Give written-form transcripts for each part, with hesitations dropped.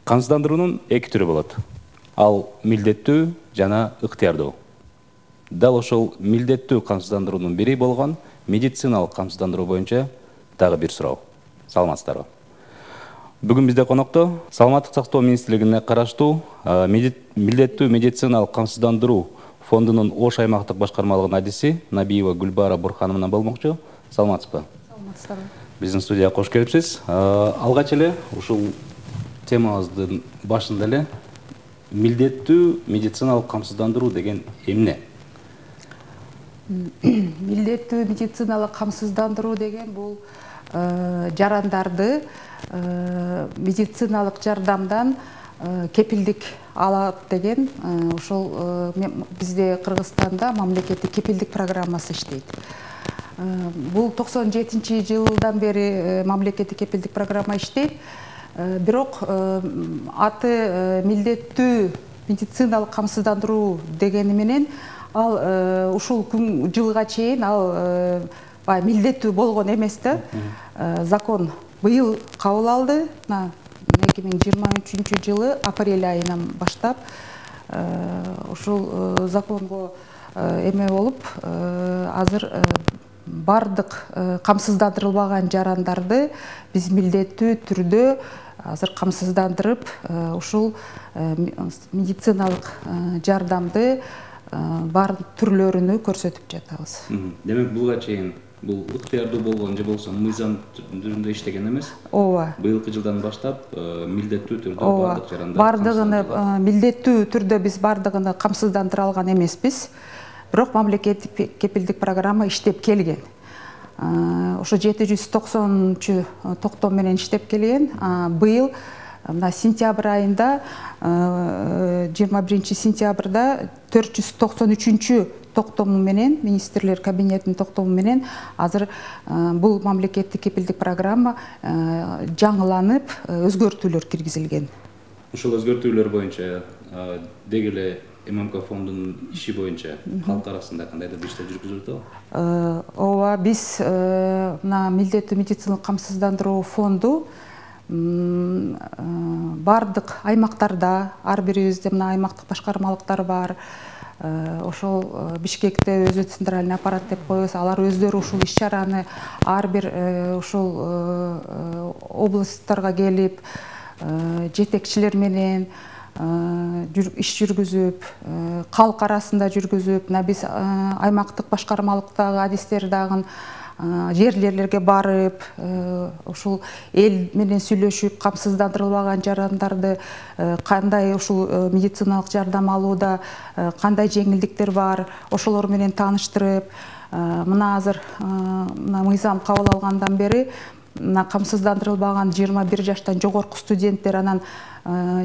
Камсыздандыруунун эки түрү болот. Ал милдеттүү жана ыктыярдуу. Дал ошол милдеттүү камсыздандыруунун бири болгон медициналык камсыздандыруу боюнча дагы бир суроо. Саламатсыздарбы? Бүгүн бизде конокто Саламаттык сактоо министрлигине караштуу милдеттүү медициналык камсыздандыруу фондунун Ош аймактык башкармалыгынын адиси Набиева Гүлбара Бурхановна менен болмокчу. Саламатсызбы? Саламатсыздарбы. Биздин студияга кош келипсиз. Алгач эле ушул темабыздын башында эле милдеттүү медициналык камсыздандыруу деген эмне? Милдеттүү медициналык камсыздандыруу деген бул жарандарды медициналык жардамдан кепилдик алат деген ошол бизде Кыргызстанда мамлекеттик кепилдик программасы иштейт. Бул 97-жылдан бери мамлекеттик кепилдик программа иштейт. Бирок аты милдеттүү медициналык камсыздандыруу дегени менен ал ушул жылга чейин ал милдеттүү болгон эмес да. Закон быйыл кабыл алды. 2023-жылы апрель айынан баштап ушул законго эме болуп азыр бардык камсыздандырылбаган жарандарды биз милдеттүү түрдө азыр камсыздандырып ушул медициналык жардамды баардык түрлөрүнү көрсөтүп жатабыз. Демек буга чейин бул ыктыярдуу болгон же болбосо мыйзам түрүндө иштеген эмес? Ооба. Быйылкы жылдан баштап милдеттүү түрдө баардык жарандар бардыгыны милдеттүү түрдө биз бардыгыны камсыздандыра алган эмеспиз. Бирок мамлекеттик кепилдик программа иштеп келген. Ошо 790 токтом менен иштеп келген. Быйыл мына сентябрь айында 21 сентябрда 493 токтому менен министрлер кабинетинин токтому менен азыр бул мамлекеттик кепилдик программа жаңыланып өзгөртүүлөр киргизилген. Ушул өзгөртүүлөр боюнча деги эле ММК фондунун иши боюнча калк арасында кандайдыр бир иштер жүргүзүлүп атабы? Ооба, биз мына милдеттүү медициналык камсыздандыруу фонду бардык аймактарда, ар бирибизде мына аймактык башкармалыктар бар. Ошол Бишкекте өзү центральный аппарат деп коебуз. Алар өздөрү ушул иш-чараны ар бир ушул областтарга келип, жетекчилер менен иш жүргүзүп, калк арасында жүргүзүп, биз аймактык башкармалыктагы адистер дагы жерлерге барып, ушул эл менен сүйлөшүп, камсыздандырылбаган жарандарды кандай ушул медициналык жардам алууда кандай жеңилдиктер бар, ошолор менен тааныштырып, мына азыр мыйзам кабыл алгандан бери камсыздандырылбаган 21 жаштан жогорку студенттер, анан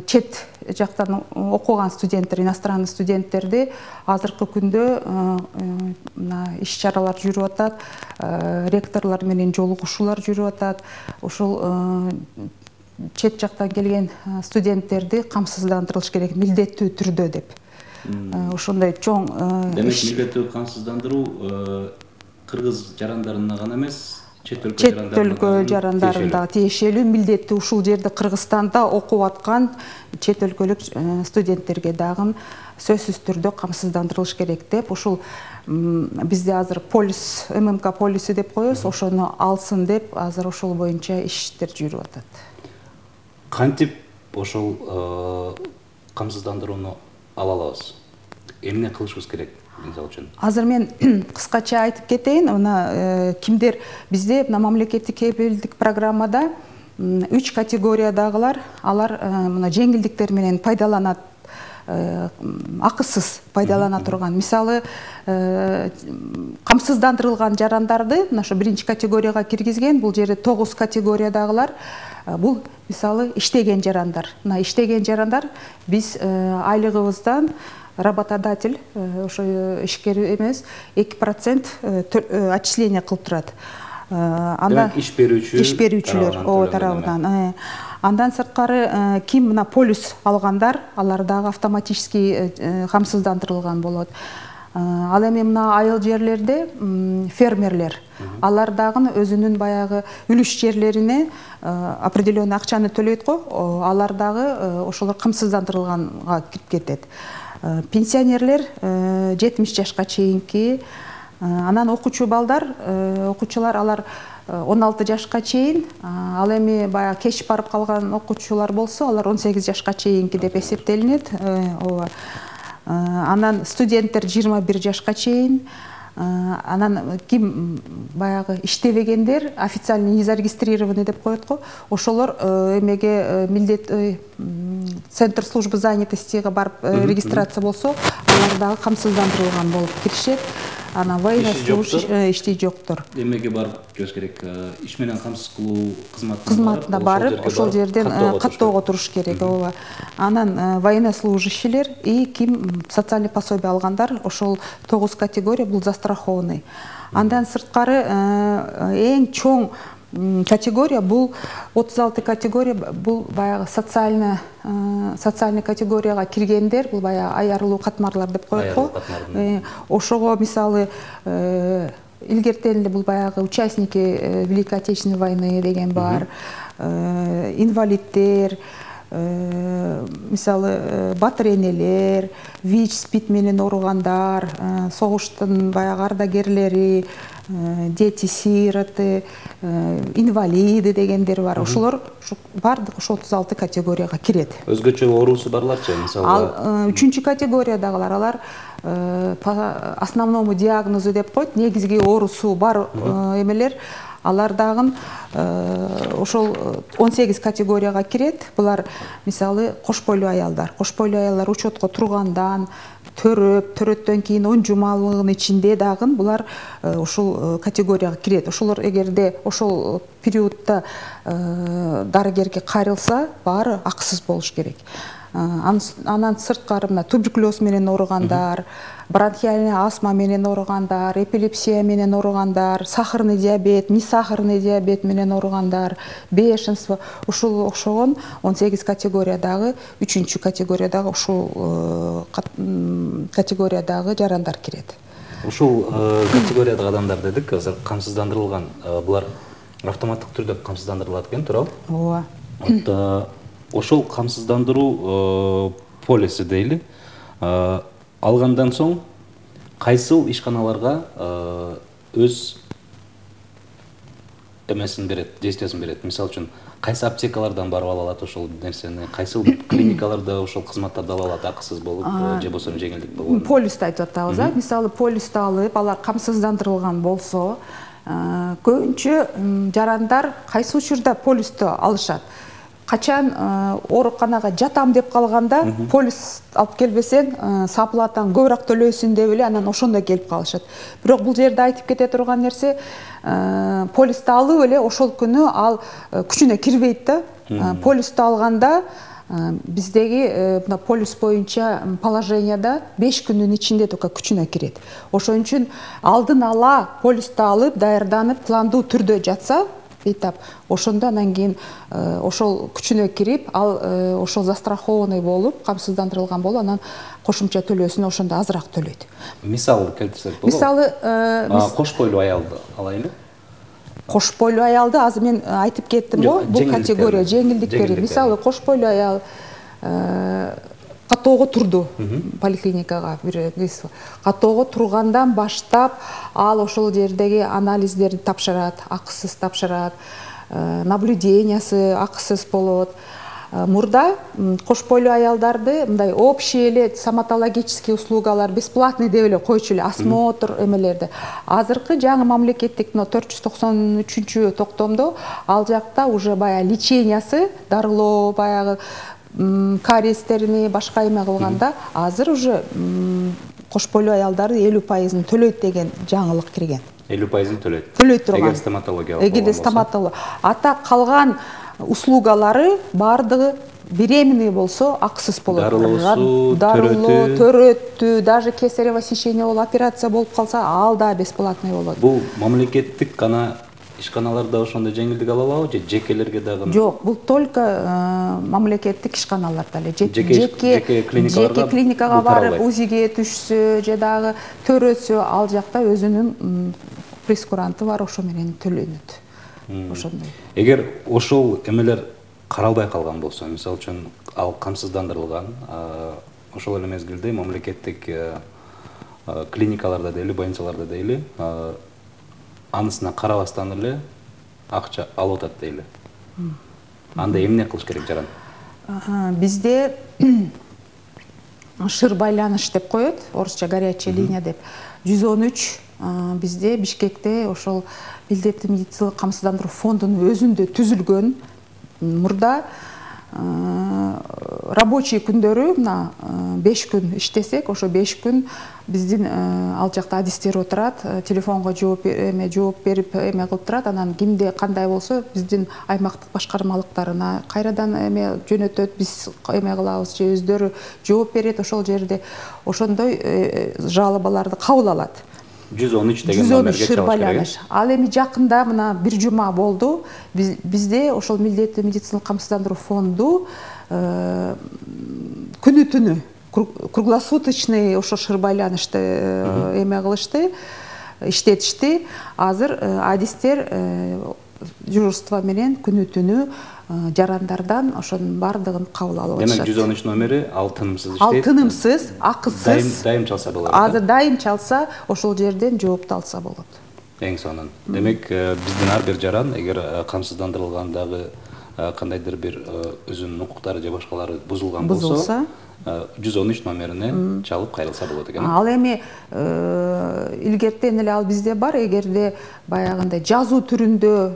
чет жактан окуган студенттер, иностранный студенттерди азыркы күндө иш-чаралар жүрүп атат, ректорлор менен жолугушуулар жүрүп атат. Ушул чет жактан келген студенттерди камсыздандырылыш керек милдеттүү түрдө деп. Ошондой чоң демек милдеттүү камсыздандыруу кыргыз жарандарына гана эмес, чет өлкө жарандарында тиешелүү, милдеттүү ушул жерде Кыргызстанда окуп аткан чет өлкөлүк студенттерге дагы сөзсүз түрдө камсыздандырылыш керек деп, ушул бизде азыр полис, ММК полиси деп коебуз, ошону алсын деп азыр ошол боюнча иштер жүрүп атат. Кантип ошол камсыздандырууну ала алабыз? Эмне кылышыбыз керек? Азыр мен кыскача айтып кетейин. Кимдер бизде мамлекеттик кепилдик программада 3 категориядагылар, алар мына жеңилдиктер менен пайдаланат, акысыз пайдалана турган. Мисалы, камсыздандырылган жарандарды мына ошо 1 категорияга киргизген, бул жерде 9 категориядагылар. Бул мисалы иштеген жарандар. Мына иштеген жарандар биз айлыгыбыздан работодатель, ошо ишкер эмес, 2% отчисление кылып турат. Анда иш берүүчүлөр тарабынан. Андан сырткары ким мына полис алгандар, алар дагы автоматический камсыздандырылган болот. Ал эми мына айыл жерлерде фермерлер, алар дагы өзүнүн баягы үлүш жерлерине определенный акчаны төлөйт го, алар дагы ошолор камсыздандырылганга кирип кетет. Пенсионерлер 70 жашка чейинки, анан окуучу балдар, окуучулар алар 16 жашка чейин, ал эми баягы кеч барып калган окуучулар болсо, алар 18 жашка чейинки деп эсептелинет. Анан студенттер 21 жашка чейин, анан ким баягы иштебегендер, официально не зарегистрированный деп коет го, ошолор эмеге милдет центр службы занятостиге барып регистрация болсо, алар дагы камсыздандырылган болуп киришет. Анан военнослужащий ишти жоктор. Эмеге барып кириш керек, иш менен камсыз кылуу кызматына барып, ошол жерден каттоого туруш керек. Анан военнослужащийлер и ким социальный пособие алгандар, ошол 9 категория бул застрахованный. Андан сырткары эң чоң категория бул 36 категория, бул баягы социальный категорияга киргендер, бул баягы аярылуу катмарлар деп коет го. Ошого мисалы илгертен бул баягы участники Великой Отечественной войны деген бар, инвалиддер, мисалы батыр энелер, ВИЧ, СПИД менен ооругандар, согуштун баягы ардагерлери, дети-сироты, инвалиды дегендер бар. Ошолор бардык ошо 36 категорияга кирет. Өзгөчө оорусу барларчы, мисалы? Ал 3-чү категориядагылар, алар по основному диагнозу деп коет, негизги оорусу бар эмелер, алар дагы ошол 18 категорияга кирет. Булар мисалы кош бойлуу аялдар. Кош бойлуу аялдар учетко тургандан, төрөттөн кийин 10 жумалыгынын ичинде дагы булар ошол категорияга кирет. Ошолор эгерде ошол периодда дарыгерге кайрылса, баары акысыз болуш керек. Анан сырткары мына туберкулез менен ооругандар, бронхиальный астма менен ооругандар, эпилепсия менен ооругандар, сахарный диабет, несахарный диабет менен ооругандар, бешенство, ушул окшогон 18 категориядагы 3-чү категориядагы ушул категориядагы жарандар кирет. Ушул категориядагы адамдар дедик, азыр камсыздандырылган, булар автоматтык түрдө камсыздандырылат экен, туурабы? Ооба. Ошол камсыздандыруу полиси дейли, алгандан соң кайсыл ишканаларга өз эмесин берет, действиясын берет. Мисалы үчүн, кайсы аптекалардан барып ала алат ошол нерсени, кайсыл клиникаларда ошол кызматтарды ала алат акысыз болуп, же болбосо жеңилдик болгон. Полисти айтып атабыз, мисалы полисти алып, алар камсыздандырылган болсо, көбүнчө жарандар кайсы учурда полисти алышат? Качан ооруканага жатам деп калганда, полис алып келбесең, саплатаң көбүрөөк төлөйсүң деп эле анан ошондо келип калышат. Бирок бул жерде айтып кете турган нерсе, полисти алып эле ошол күнү ал күчүнө кирбейт да. Полисти алганда биздеги мына полис боюнча положенияда 5 күнүн ичинде только күчүнө кирет. Ошон үчүн алдын ала полисти алып, даярданып, пландуу түрдө жатса, ошондо анан кийин ошол күчүнө кирип, ал ошол застрахованный болуп, камсыздандырылган болуп, анан кошумча төлөөсүн ошондо азыраак төлөйт. Мисалы келтирсек болобу? Мисалы кош бойлуу аялды алайлы. Кош бойлуу аялды азыр мен айтып кеттим го, бул категория жеңилдиктери. Мисалы кош бойлуу аял каттоого турду поликлиникага, каттоого тургандан баштап ал ошол жердеги анализдерди тапшырат, акысыз тапшырат, наблюдениясы акысыз болот. Мурда кош бойлуу аялдарды мындай общий эле стоматологический услугалар бесплатный деп эле койчу эле, осмотр эмелерди. Азыркы жаңы мамлекеттик 493 токтомдо ал жакта уже баягы лечениясы, дарылоо, баягы кариестерини башка эме кылганда, азыр уже кош бойлуу аялдарды 50% төлөйт деген жаңылык кирген. 50% төлөйт. Төлөйт турган. Эгер стоматология. Эгер стоматология. Ата калган услугалары бардыгы беременный болсо акысыз болот. Дарылоо, төрөттү, даже кесарево сечение болуп операция болуп калса, ал да бесплатный болот. Бул мамлекеттик гана ишканаларда ошондой жеңилдик ала алабы же жекелерге дагы? Жок, бул только мамлекеттик ишканаларда эле. Жеке клиникага барып УЗИге түшсө же дагы төрөсө, ал жакта өзүнүн прескуранты бар, ошо менен төлөнөт. Ошондой. Эгер ошол эмелер каралбай калган болсо, мисалы үчүн ал камсыздандырылган, ошол эле мезгилде мамлекеттик клиникаларда дейли, больницаларда дейли, анысына карабастан эле акча алып атат дейли. Анда эмне кылыш керек жаран? Бизде шыр байланыш деп коет, орусча горячая линия деп. 113 бизде Бишкекте ошол милдеттүү медициналык камсыздандыруу фондунун өзүндө түзүлгөн. Мурда рабочий күндөрү мына 5 күн иштесек, ошо 5 күн биздин ал жакта адистер отурат, телефонго жооп берип эме кылып турат. Анан кимде кандай болсо биздин аймактык башкармалыктарына кайрадан эме жөнөтөт, биз эме кылабыз же өздөрү жооп берет ошол жерде. Ошондой жалобаларды кабыл алат. 113 деген номерге чалыш керек. Ал эми жакында мына бир жума болду. Бизде ошол милдеттүү медициналык камсыздандыруу фонду күнү-түнү круглосуточный ошо шыр байланышты эме кылышты, иштетишти. Азыр адистер дежурство менен күнү-түнү жарандардан ошонун бардыгын кабыл алып атышат. Демек 113 номери ал тынымсыз иштейт. Ал тынымсыз, акысыз. Дайым чалса болот. Азыр дайым чалса, ошол жерден жоопту алса болот. Эң сонун. Демек биздин ар бир жаран эгер камсыздандырылгандагы кандайдыр бир өзүнүн укуктары же башкалары бузулган болсо, 113 номерине чалып кайрылса болот экен. Ал эми илгертен эле ал бизде бар, эгерде баягындай жазуу түрүндө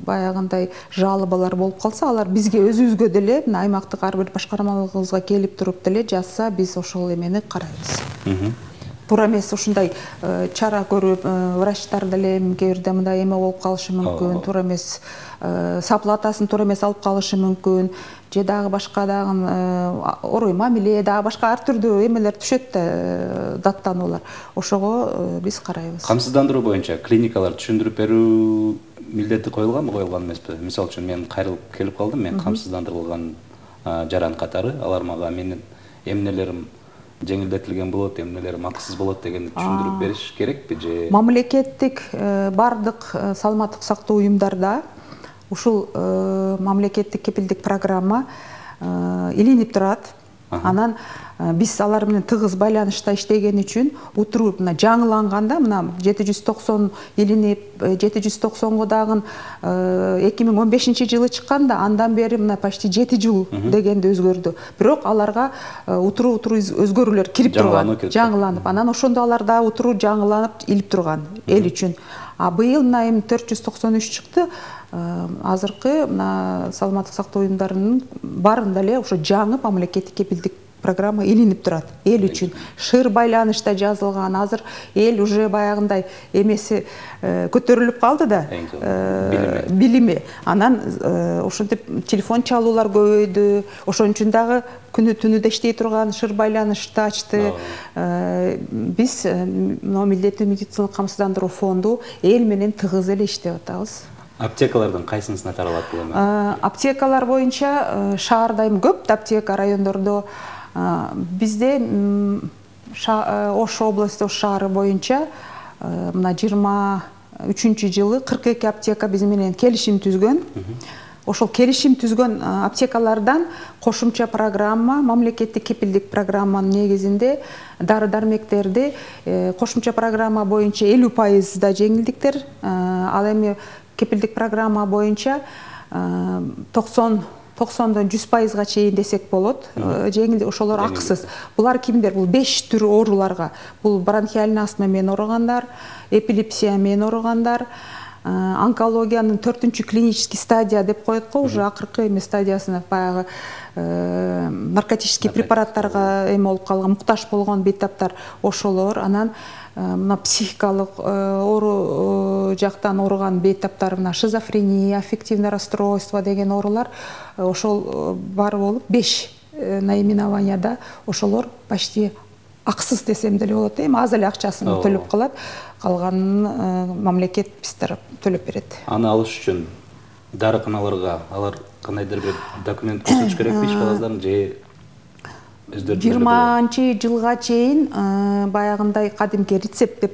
баягындай жалобалар болуп калса, алар бизге өзүбүзгө деле, аймактык ар бир башкармалыгыбызга келип туруп деле жазса, биз ошол эмени карайбыз. Туура эмес ушундай чара көрүп, врачтар деле кээ бирде мындай эме болуп калышы мүмкүн, туура эмес саплатасын туура эмес алып калышы мүмкүн, же дагы башка дагы орой мамиле, дагы башка ар түрдүү эмелер түшөт да, даттануулар. Ошого биз карайбыз. Камсыздандыруу боюнча клиникалар түшүндүрүп берүү милдети коюлганбы, коюлган эмеспи? Мисалы үчүн мен кайрылып келип калдым, мен камсыздандырылган жаран катары, алар мага менин эмнелерим жеңилдетилген болот, эмнелерим акысыз болот дегенди түшүндүрүп бериш керекпи же? Мамлекеттик бардык саламаттык сактоо уюмдарда ушул мамлекеттик кепилдик программа илинип турат. Анан биз алар менен тыгыз байланышта иштеген үчүн утуруу мына жаңыланганда мына 790 илинип 790го дагы 2015-жылы чыкканда андан бери мына почти 7 жыл дегенде өзгөрдү. Бирок аларга утуруу өзгөрүүлөр кирип турган, жаңыланып. Анан ошондо аларда утуруу жаңыланып илип турган эл үчүн. А быйыл мына 493 чыкты. Азыркы мына саламаттык сактоо уюмдарынын баарында эле ошо жаңы мамлекеттик кепилдик программа илинип турат эл үчүн. Шыр байланышта жазылган. Азыр эл уже баягындай эмеси көтөрүлүп калды да, билими. Анан ошентип телефон чалуулар көбөйдү. Ошон үчүн дагы күнү-түнү да иштей турган шыр байланышты ачты. Биз милдеттүү медициналык камсыздандыруу фонду эл менен тыгыз эле иштеп атабыз. Аптекалардын кайсынысына таралат бул эми? Аптекалар боюнча шаарда эми көп аптека, райондордо. Бизде Ош областы, Ош шаары боюнча мына 23-жылы 42 аптека биз менен келишим түзгөн. Ошол келишим түзгөн аптекалардан кошумча программа, мамлекеттик кепилдик программанын негизинде дары-дармектерди кошумча программа боюнча 50% да жеңилдиктер, ал эми кепилдик программа боюнча 90-дан 100%га чейин десек болот. Жеңил ошолор акысыз. Булар кимдер? Бул 5 түр ооруларга. Бул бронхиальный астма менен ооругандар, эпилепсия менен ооругандар, онкологиянын 4-күнчү клинический стадия деп коет го, уже акыркы эме стадиясына баягы наркотический препараттарга эме болуп калган, муктаж болгон бейтаптар ошолор. Анан мына психикалык оору жактан ооруган бейтаптар, мына шизофрения, аффективное расстройство деген оорулар ошол бар болуп 5 наименованияда ошолор почти акысыз десем деле болот. Эми аз эле акчасын төлөп калат. калганын мамлекет биз тарап төлөп берет. Аны алыш үчүн дарыканаларга алар кандайдыр бир документ көрсөтүш керекпи иш кагазларын же өздөрү 20-жылга чейин баягындай кадимки рецепт деп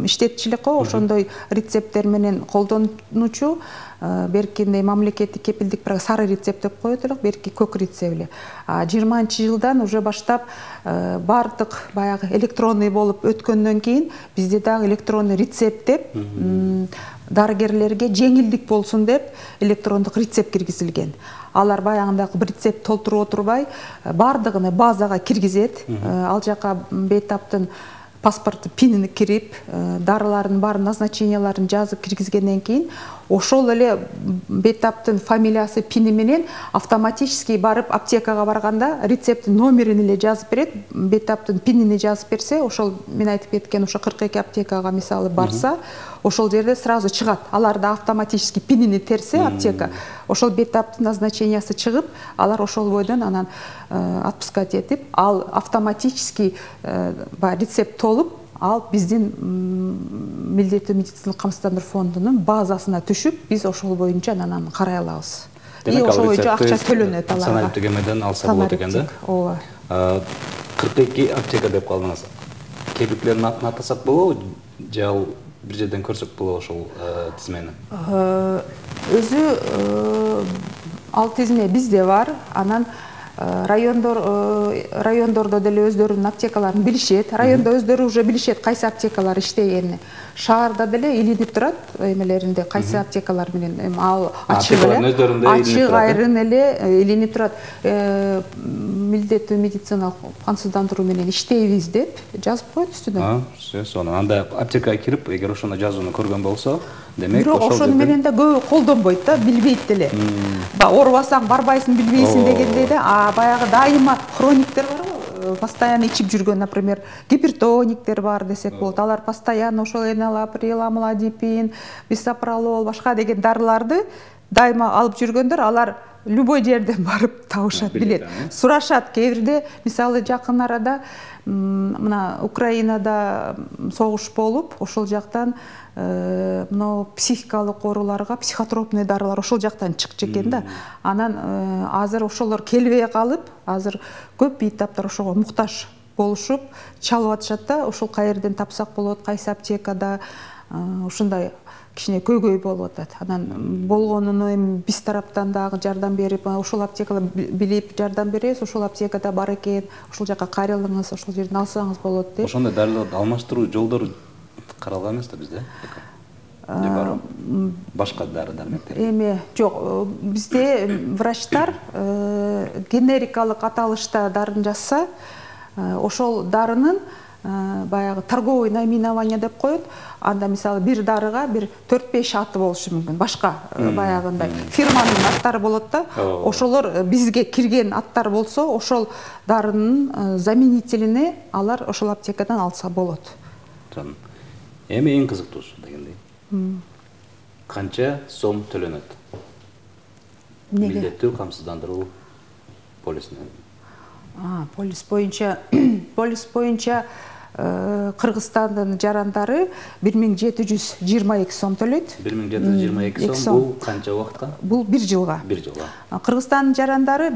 иштетчү элек го, ошондой рецепттер менен колдонуучу беркинде мамлекеттик кепилдик сары рецепт деп коет элек, берки көк рецепт эле. 20-жылдан уже баштап бардык баягы электронный болуп өткөндөн кийин бизде дагы электронный рецепт деп дарыгерлерге жеңилдик болсун деп электрондук рецепт киргизилген. Алар баягындай бир рецепт толтуруп отурбай бардыгын базага киргизет. Ал жака бейтаптын паспортту пинини кирип, дарылардын баарын назначенияларын жазып киргизгенден кийин ошол эле бейтаптын фамилиясы, пини менен автоматически барып аптекага барганда рецепттин номерин эле жазып берет. Бейтаптын пинини жазып берсе, ошол мен айтып кеткен ошо 42 аптекага мисалы барса, ошол жерде сразу чыгат. Аларда автоматически пинини терсе аптека, ошол бейтаптын назначениясы чыгып, алар ошол бойдон анан отпускать этип, ал автоматически рецепт толуп, ал биздин милдеттүү медициналык камсыздандыруу фондунун базасына түшүп, биз ошол боюнча анан карай алабыз. Демек, ошол боюнча акча төлөнөт аларга. Саналип тегемеден алса болот экен да? Ооба. 42 аптека деп калдыңыз. Кепилдерин атын атасак болобу? Же ал бир жерден көрсөк болобу ошол тизмени? Өзү ал тизме бизде бар. Анан райондордо деле өздөрүнүн аптекаларын билишет. Райондо өздөрү уже билишет кайсы аптекалар иштегенин. Шаарда деле илинип турат эмелеринде кайсы аптекалар менен ал ачык айрын эле илинип турат. Милдеттүү медициналык камсыздандыруу менен иштейбиз деп жазып коет үстүнө. Сонун. Анда аптекага кирип, эгер ошондо жазууну көргөн болсо, демек ошол жерден ошону менен да көбү колдонбойт да, билбейт деле. Оорубасаң барбайсың, билбейсиң дегендей да, баягы дайыма хрониктер бар го, постоянно ичип жүргөн, например, гипертониктер бар десек болот. Алар постоянно ошол энолаприл, амлодипин, бисопролол, башка деген дарыларды дайыма алып жүргөндөр, алар любой жерден барып табышат, билет. Сурашат. Кээ бирде, мисалы, жакын арада мына Украинада согуш болуп, ошол жактан мына психикалык ооруларга психотропный дарылар ошол жактан чыкчу экен да. Анан азыр ошолор келбей калып, азыр көп бейтаптар ошого муктаж болушуп, чалып атышат да, ошол каерден тапсак болот, кайсы аптекада, ушундай кичине көйгөй болуп атат. Анан болгонуну эми биз тараптан дагы жардам берип, ошол аптекада билип жардам беребиз, ошол аптекада бар экен, ошол жака кайрылыңыз, ошол жерден алсаңыз болот деп. Ошондой дарыларды алмаштыруу жолдору каралган эмес да бизде? Же бар башка дары-дармектер? Эми жок, бизде врачтар генерикалык аталышта дарын жазса, ошол дарынын баягы торговый наименование деп коет. Анда мисалы бир дарыга бир 4-5 аты болушу мүмкүн. Башка баягындай фирманын аттары болот да. Ошолор бизге кирген аттар болсо, ошол дарынын заменителине алар ошол аптекадан алса болот. Эми эң кызыктуусу дегендей. Канча сом төлөнөт? Милдеттүү камсыздандыруу полисине. Полис боюнча Кыргызстандын жарандары 1722 сом төлөйт. 1722 сом бул канча убакытка? Бул 1 жылга. 1 жылга. Кыргызстандын жарандары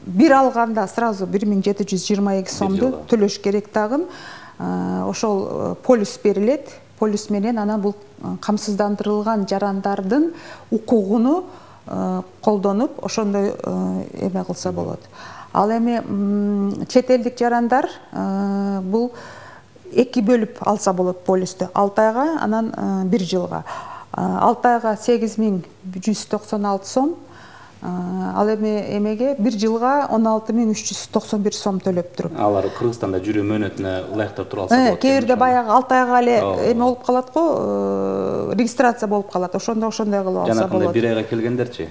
бир алганда сразу 1722 сомду төлөш керек дагы. Ошол полис берилет. Полис менен анан бул камсыздандырылган жарандардын укугуну колдонуп, ошондой эме кылса болот. Ал эми чет элдик жарандар бул 2 бөлүп алса болот полистү. 6 айга, анан 1 жылга. 6 айга 8196 сом. Ал эми эмеге 1 жылга 16391 сом төлөп туруп. Алар Кыргызстанда жүрүү мөөнөтүнө ылайыктап туруп алса болот. Кээ бирде баягы 6 айга эле эме болуп калат го, регистрация болуп калат. Ошондой кылып алса болот. 1 айга келгендерчи?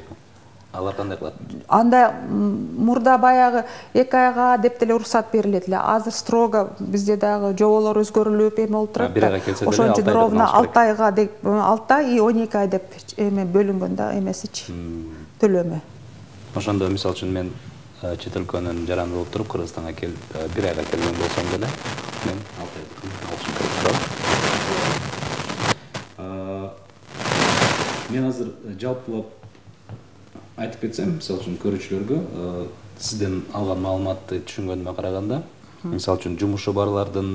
Алар кандай кылат? Анда мурда баягы 2 айга деп деле уруксат берилет эле. Азыр строго бизде дагы жоболор өзгөрүлүп эме болуп турат. 1 айга келсе деле 6 айга. Ошон үчүн ровно 6 айга деп 6 ай и 12 ай деп эме бөлүнгөн да эмесичи. Төлөмү. Ошондо мисалы үчүн мен чет өлкөнүн жаранды болуп туруп Кыргызстанга келип 1 айга келген болсом деле мен 6 ай алышым керек. Мен азыр жалпылап айтып кетсем, мисалы үчүн көрүүчүлөргө сизден алган маалыматты түшүнгөнүмө караганда, мисалы үчүн жумушу барлардын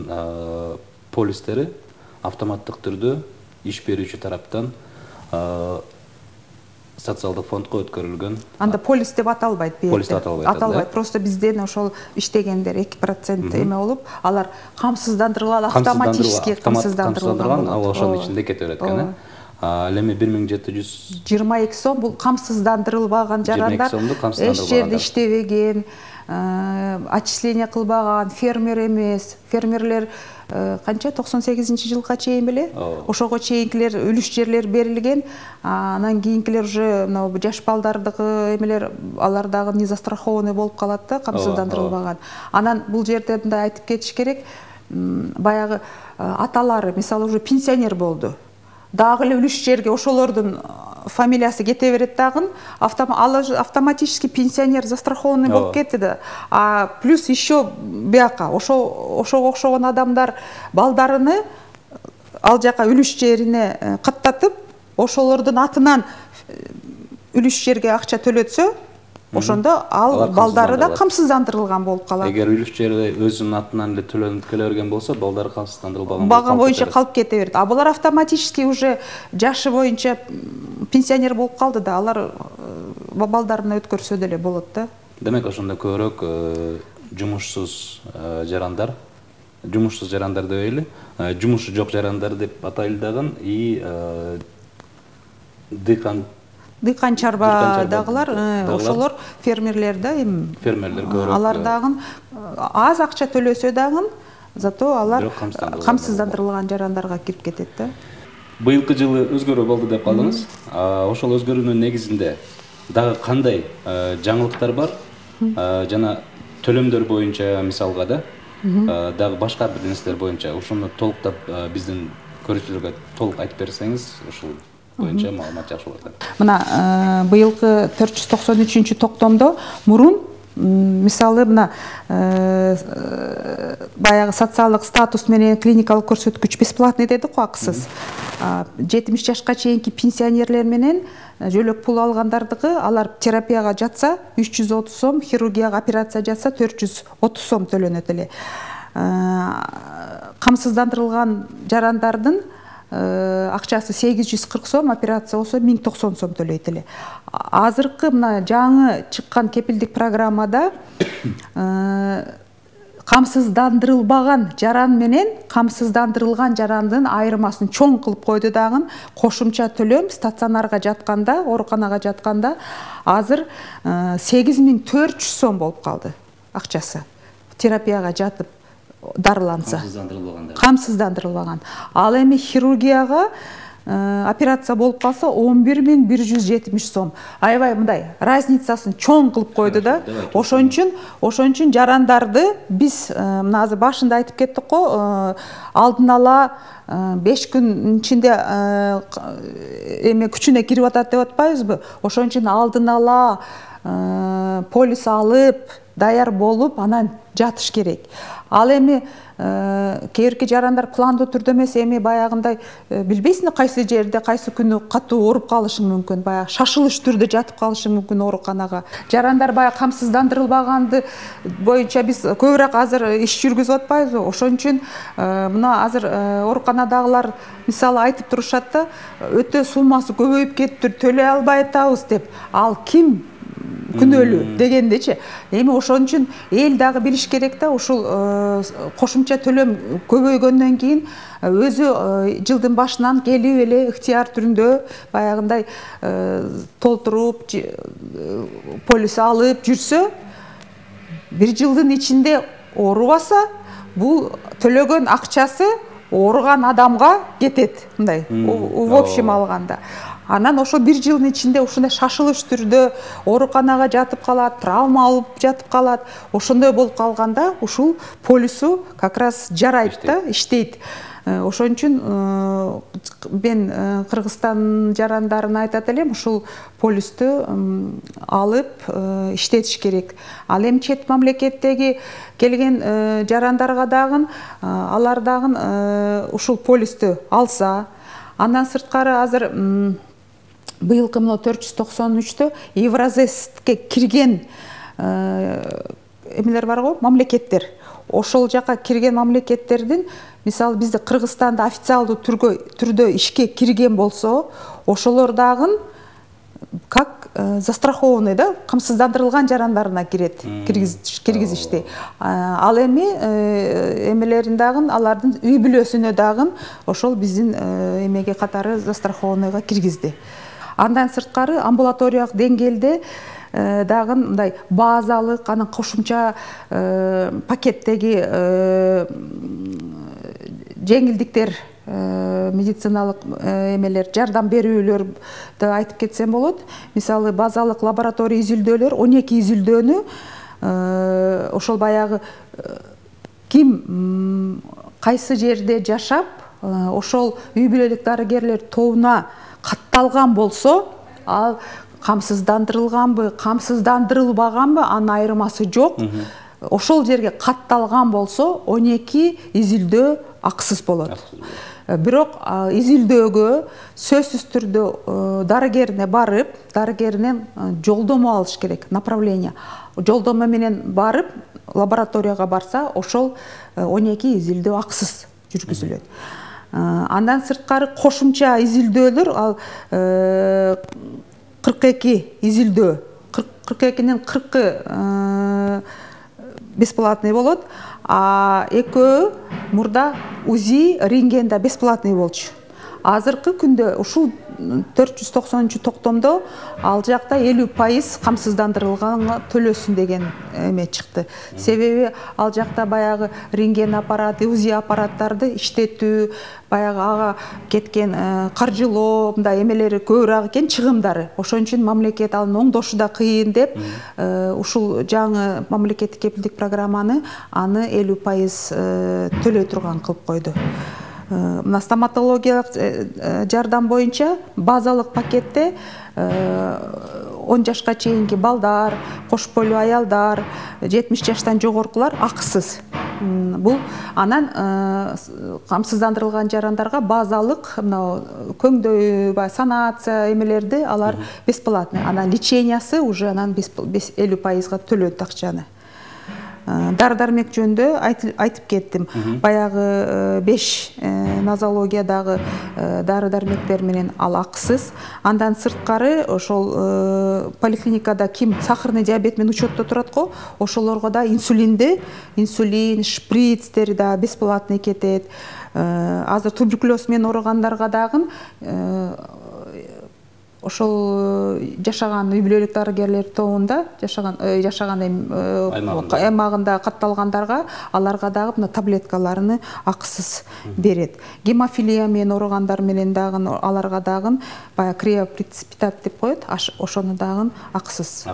полистери автоматтык түрдө иш берүүчү тараптан социалдык фондко өткөрүлгөн. Анда полис деп аталбайт бу. Полис деп аталбайт. Просто бизден ошол иштегендер 2% эме болуп, алар камсыздандырылган, автоматически камсыздандырылган. Ал ошонун ичинде кете берет экен. Ал эми 1722 сом бул камсыздандырылбаган жарандар, эч жерде иштебеген, отчисление кылбаган, фермер эмес. Фермерлер канча 98-жылга чейин беле? Ошого чейинкилер үлүш жерлер берилген. Анан кийинкилер уже жаш балдардыгы эмелер, алар дагы не застрахованный болуп калат да, камсыздандырылбаган. Анан бул жерде мындай айтып кетиш керек. Баягы аталары, мисалы, уже пенсионер болду. Дагы эле үлүш жерге ошолордун фамилиясы кете берет дагы, автоматически пенсионер застрахованный болуп кетти да. Плюс еще бияка ошого окшогон адамдар балдарыны ал жака үлүш жерине каттатып, ошолордун атынан үлүш жерге акча төлөтсө, ошондо ал балдары да камсыздандырылган болуп калат. Эгер үлүш жери өзүнүн атынан эле төлөнүп келе берген болсо, балдары камсыздандырылбаган баган боюнча калып кете берет. Булар автоматически уже жашы боюнча пенсионер болуп калды да, алар балдарына өткөрсө деле болот да. Демек, ошондо көбүрөөк жумушсуз жарандар дебейли, жумушу жок жарандар деп атайлы дагы, и дыйкан чарбадагылар, ошолор фермерлер да, фермерлер көбүрөөк. Алар дагы аз акча төлөсө дагы, зато алар камсыздандырылган жарандарга кирип кетет да. Быйылкы жылы өзгөрүү болду деп калдыңыз. Ошол өзгөрүүнүн негизинде дагы кандай жаңылыктар бар? Жана төлөмдөр боюнча мисалга да, дагы башка бир нерселер боюнча ошону толуктап биздин көрүүчүлөргө толук айтып берсеңиз, ушул боюнча маалымат жакшы болот. Мына быйылкы 493 токтомдо мурун мисалы мына баягы социалдык статус менен клиникалык көрсөткүч бесплатный дедик го, акысыз. 70 жашка чейинки пенсионерлер менен жөлөк пул алгандардыгы, алар терапияга жатса 330 сом, хирургияга операция жатса 430 сом төлөнөт эле. Камсыздандырылган жарандардын акчасы 840 сом, операция болсо 1090 сом төлөйт эле. Азыркы мына жаңы чыккан кепилдик программада камсыздандырылбаган жаран менен камсыздандырылган жарандын айырмасын чоң кылып койду дагы. Кошумча төлөм стационарга жатканда, ооруканага жатканда азыр 8400 сом болуп калды акчасы. Терапияга жатып дарыланса, камсыздандырылбаган. Ал эми хирургияга операция болуп калса 11170 сом. Аябай мындай разницасын чоң кылып койду да. Ошон үчүн жарандарды биз мына азыр башында айтып кеттик го, алдын ала 5 күн ичинде эме күчүнө кирип атат деп атпайбызбы? Ошон үчүн алдын ала полис алып, даяр болуп, анан жатыш керек. Ал эми кээрки жарандар пландуу түрдө эмес, эми баягындай билбейсиң кайсы жерде кайсы күнү катуу ооруп калышың мүмкүн, баягы шашылыш түрдө жатып калышың мүмкүн ооруканага. Жарандар баягы камсыздандырылбаганды боюнча биз көбүрөөк азыр иш жүргүзүп атпайбызбы? Ошон үчүн мына азыр ооруканадагылар мисалы айтып турушат да, өтө суммасы көбөйүп кетиптир, төлөй албай атабыз деп. Ал ким күнөөлүү дегендечи. Эми ошон үчүн эл дагы билиш керек да, ушул кошумча төлөм көбөйгөндөн кийин өзү жылдын башынан келип эле ыктыяр түрүндө баягындай толтуруп, полис алып жүрсө, бир жылдын ичинде оорубаса, бул төлөгөн акчасы ооруган адамга кетет, мындай в общем алганда. Анан ошо бир жылдын ичинде ушундай шашылыш түрдө ооруканага жатып калат, травма алып жатып калат. Ошондой болуп калганда ушул полису как раз жарайт да, иштейт. Ошон үчүн мен Кыргызстан жарандарына айтат элем, ушул полисту алып иштетиш керек. Ал эми чет мамлекеттеги келген жарандарга дагы алар дагы ушул полисту алса, андан сырткары азыр быйылкы мына 493-тө Евразеске кирген эмелер бар го, мамлекеттер. Ошол жака кирген мамлекеттердин, мисалы бизде Кыргызстанда официалдуу түрдө ишке кирген болсо, ошолор дагы как застрахованный, да, камсыздандырылган жарандарына кирет, киргизишти. Ал эми эмелерин дагы, алардын үй бүлөсүнө дагы ошол биздин эмеге катары застрахованныйга киргизди. Андан сырткары амбулаториялык деңгээлде дагы мындай базалык, анан кошумча пакеттеги жеңилдиктер, медициналык эмелер, жардам берүүлөрдү айтып кетсем болот. Мисалы базалык лаборатория изилдөөлөр, 12 изилдөөнү ошол баягы ким кайсы жерде жашап, ошол үй бүлөлүк дарыгерлер тобуна катталган болсо, ал камсыздандырылганбы, камсыздандырылбаганбы, анын айырмасы жок. Ошол жерге катталган болсо, 12 изилдөө акысыз болот. Бирок изилдөөгө сөзсүз түрдө дарыгерине барып, дарыгеринен жолдомо алыш керек, направление. Жолдомо менен барып, лабораторияга барса, ошол 12 изилдөө акысыз жүргүзүлөт. Андан сырткары кошумча изилдөөлөр, ал 42 изилдөө, 42-нин 40-ы бесплатный болот, а экөө мурда УЗИ, рентгенда бесплатный болчу. Азыркы күндө ушул 490-токтомдо ал жакта 50% камсыздандырылганга төлөсүн деген эме чыкты. Себеби ал жакта баягы рентген аппараты, УЗИ аппараттарды иштетүү, баягы ага кеткен каржылоо, мындай эмелери көбүрөөк экен, чыгымдары. Ошон үчүн мамлекет аны оңдошу да кыйын деп, ушул жаңы мамлекеттик кепилдик программаны аны 50% төлөй турган кылып койду. Мына стоматологиялык жардам боюнча базалык пакетте 10 жашка чейинки балдар, кош бойлуу аялдар, 70 жаштан жогоркулар акысыз. Бул анан камсыздандырылган жарандарга базалык мына көңдөй, санация эмелерди алар бесплатный. Анан лечениясы уже анан 50%-га төлөйт акчаны. Дары-дармек жөнүндө айтып кеттим. Баягы 5 нозологиядагы дары-дармектер менен ал акысыз. Андан сырткары ошол поликлиникада ким сахарный диабет менен учетто турат го, ошолорго да инсулин, шприцтер да бесплатный кетет. Азыр туберкулез менен ооругандарга дагы ошол жашаган үй бүлөлүк дарыгерлер тобунда жашаган аймагында катталгандарга, аларга дагы мына таблеткаларны акысыз берет. Гемофилия менен ооругандар менен дагы аларга дагы баягы криопреципитат деп коет, ошону дагы акысыз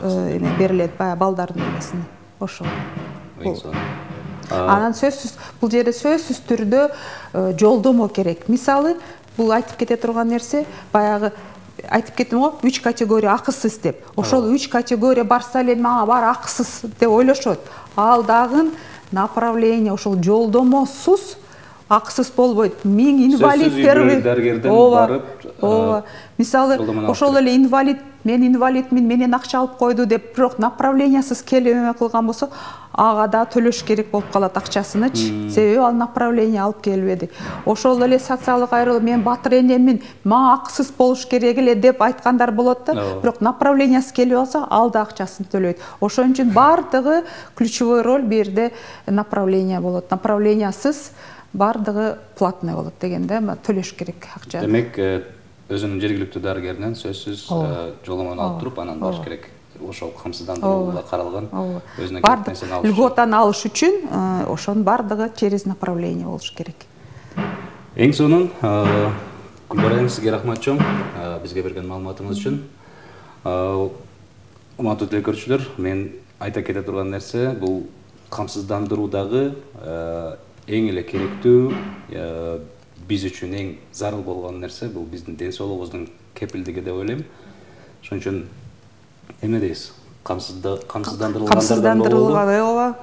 берилет, баягы балдардын эмесине. Ошол. Анан сөзсүз, бул жерде сөзсүз түрдө жолдомо керек. Мисалы, бул айтып кете турган нерсе, баягы айтып кеттим го, 3 категория акысыз деп. Ошол 3 категория барса эле мага бар акысыз деп ойлошот. Ал дагы направление, ошол жолдомосуз акысыз болбойт. 1000 инвалид дарыгерден барып, мисалы, ошол эле инвалид, мен инвалидмин, менен акча алып койду деп, бирок направлениясыз келип эме кылган болсо, ага да төлөш керек болуп калат акчасынычы. Себеби ал направление алып келбеди. Ошол эле социалдык айрылуу, мен батыр энеммин, мага акысыз болуш керек эле деп айткандар болот да, бирок направлениясыз келип алса, ал да акчасын төлөйт. Ошон үчүн бардыгы ключевой роль бу жерде направление болот. Направлениясыз бардыгы платный болот дегенде, төлөш керек акча. Демек, өзүнүн жергиликтүү дарыгеринен сөзсүз жолдомону алып туруп, анан баш керек. Ошол камсыздандырууга каралган өзүнө керек нерсени алыш. Льготаны алыш үчүн ошонун бардыгы через направление болуш керек. Эң сонун Гүлбара, сизге рахмат чоң, бизге берген маалыматыңыз үчүн. Урматтуу телекөрүүчүлөр, мен айта кете турган нерсе, бул камсыздандыруудагы эң эле керектүү, биз үчүн эң зарыл болгон нерсе бул биздин ден соолугубуздун кепилдиги деп ойлойм. Ошон үчүн эме дейбиз, камсыздандырылгандардан болобу?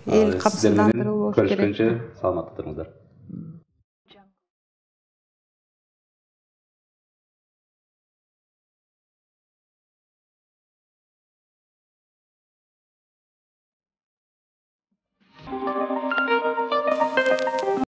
Эл камсыздандырылышы керек. Көрүшкөнчө саламатта туруңуздар.